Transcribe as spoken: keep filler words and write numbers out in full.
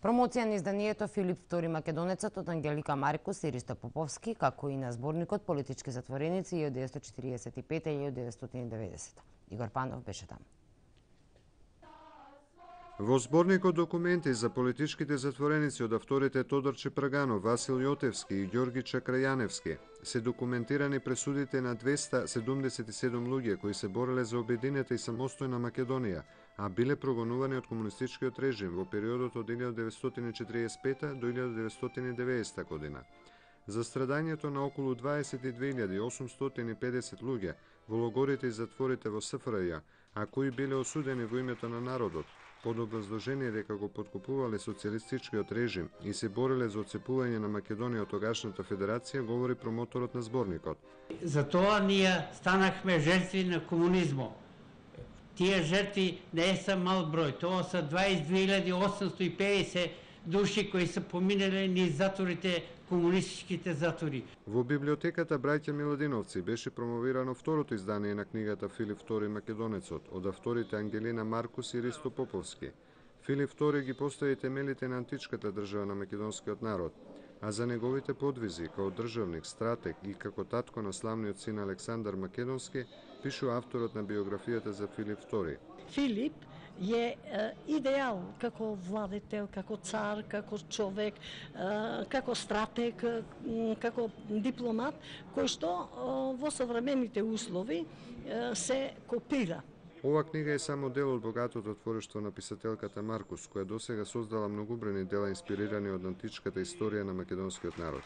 Промоција на изданието Филип втори Македонецот од Ангелика Маркус и Ристо Поповски, како и на зборникот Политички затвореници илјада деветстотини четиридесет и пета - илјада деветстотини и деветдесета. Игор Панов беше таму. Во зборникот документи за политичките затвореници од авторите Тодор Чепраганов, Васил Јотевски и Ѓорги Чакрајаневски се документирани пресудите на двеста седумдесет и седум луѓе кои се бореле за обединета и самостојна Македонија, а биле прогонувани од комунистичкиот режим во периодот од илјада деветстотини и четиридесет и пета до илјада деветстотини и деветдесета година. За страдањето на околу дваесет и две илјади осумстотини и педесет луѓе во логорите и затворите во С Ф Р Ј, а кои биле осудени во името на народот, под образложение дека го поткупувале социјалистичкиот режим и се бореле за отцепување на Македонија од тогашната федерација, говори промоторот на зборникот. Затоа ние станахме жртви на комунизмот. Тие жртви не се мал број, тоа се дваесет и две илјади осумстотини и педесет души кои се поминале низ затворите, комунистичките затвори. Во библиотеката Браќа Миладиновци беше промовирано второто издание на книгата Филип втори Македонецот од авторите Ангелина Маркус и Ристо Поповски. Филип втори ги постави темелите на античката држава на македонскиот народ, а за неговите подвизи како државник, стратег и како татко на славниот син Александар Македонски, пишува авторот на биографијата за Филип втори. Филип е идеал како владетел, како цар, како човек, како стратег, како дипломат, кој што во современите услови се копира. Ова книга е само дел од богатото творештво на писателката Маркус, која досега создала многубрени дела инспирирани од античката историја на македонскиот народ.